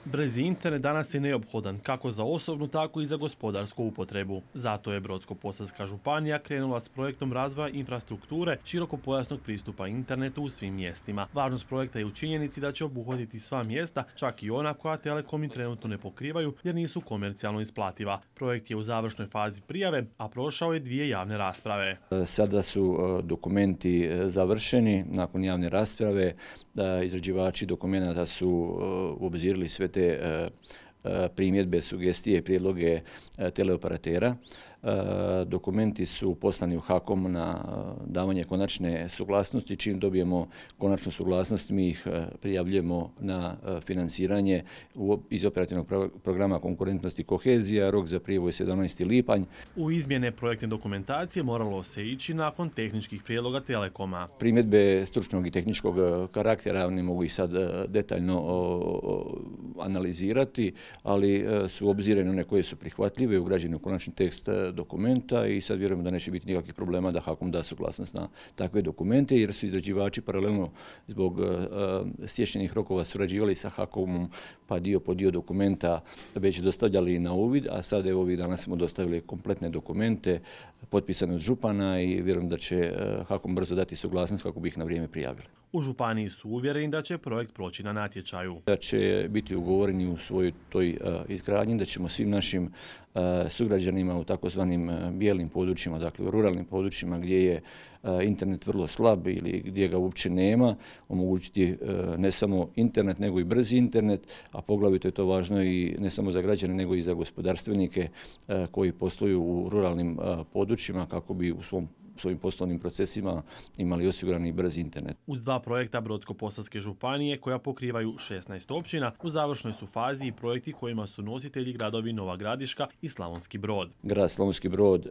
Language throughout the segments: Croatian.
Brzi internet danas je neophodan kako za osobnu, tako i za gospodarsku upotrebu. Zato je Brodsko-posavska županija krenula s projektom razvoja infrastrukture širokopojasnog pristupa internetu u svim mjestima. Važnost projekta je u činjenici da će obuhvatiti sva mjesta, čak i ona koja telekomi trenutno ne pokrivaju jer nisu komercijalno isplativa. Projekt je u završnoj fazi prijave, a prošao je 2 javne rasprave. Sada su dokumenti završeni nakon javne rasprave. Izrađivači dokumenata su obzirali sve te primjedbe, sugestije i prijedloge teleoperatera. Dokumenti su poslani u HAKOM na davanje konačne suglasnosti. Čim dobijemo konačnu suglasnost, mi ih prijavljujemo na financiranje iz operativnog programa konkurentnosti i kohezija. Rok za prijavu je 17. lipanj. U izmjene projektne dokumentacije moralo se ići nakon tehničkih prijedloga Telekoma. Primjedbe stručnog i tehničkog karaktera, ne mogu ih sad detaljno analizirati, ali su obzirane one koje su prihvatljive, ugrađene u konačni tekst dokumenta i sad vjerujemo da neće biti nikakvih problema da HAKOM da suglasnost na takve dokumente, jer su izrađivači paralelno zbog stječenih rokova surađivali sa HAKOM-om, pa dio po dio dokumenta već dostavljali na uvid, a sad evo ovih dana smo dostavili kompletne dokumente potpisane od župana i vjerujem da će HAKOM brzo dati suglasnost kako bi ih na vrijeme prijavili. U županiji su uvjereni da će projekt proći na natječaju. Da će biti ugovoreni u svojoj toj izgradnji, da ćemo svim našim sugrađanima u takozvanim bijelim područjima, dakle u ruralnim područjima gdje je internet vrlo slab ili gdje ga uopće nema, omogućiti ne samo internet nego i brzi internet, a poglavito je to važno i ne samo za građane nego i za gospodarstvenike koji posluju u ruralnim područjima kako bi u svojim poslovnim procesima imali osigurani brzi internet. Uz 2 projekta Brodsko-posavske županije koja pokrivaju 16 općina, u završnoj su fazi i projekti kojima su nositelji gradovi Nova Gradiška i Slavonski Brod. Grad Slavonski Brod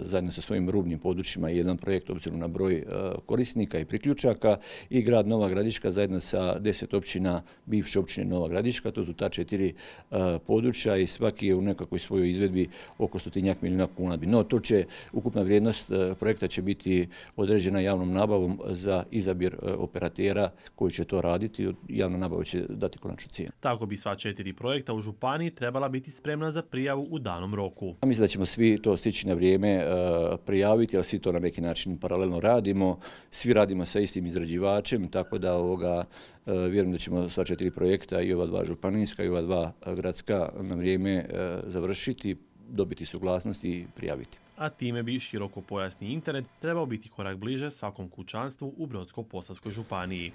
zajedno sa svojim rubnim područjima je jedan projekt obzirom na broj korisnika i priključaka i grad Nova Gradiška zajedno sa 10 općina bivše općine Nova Gradiška. To su ta 4 područja i svaki je u nekakvoj svojoj izvedbi oko 100 milijuna kuna. No, to će ukupna vrijednost projekta će biti određena javnom nabavom za izabir operatera koji će to raditi. Javna nabava će dati konačnu cijenu. Tako bi sva 4 projekta u županiji trebala biti spremna za prijavu u danom roku. Mislim da ćemo svi to stići na vrijeme prijaviti, ali svi to na neki način paralelno radimo. Svi radimo sa istim izrađivačem, tako da vjerujem da ćemo sva 4 projekta, i ova 2 županijska i ova 2 gradska, na vrijeme završiti, dobiti suglasnost i prijaviti. A time bi širokopojasni internet trebao biti korak bliže svakom kućanstvu u Brodsko-posavskoj županiji.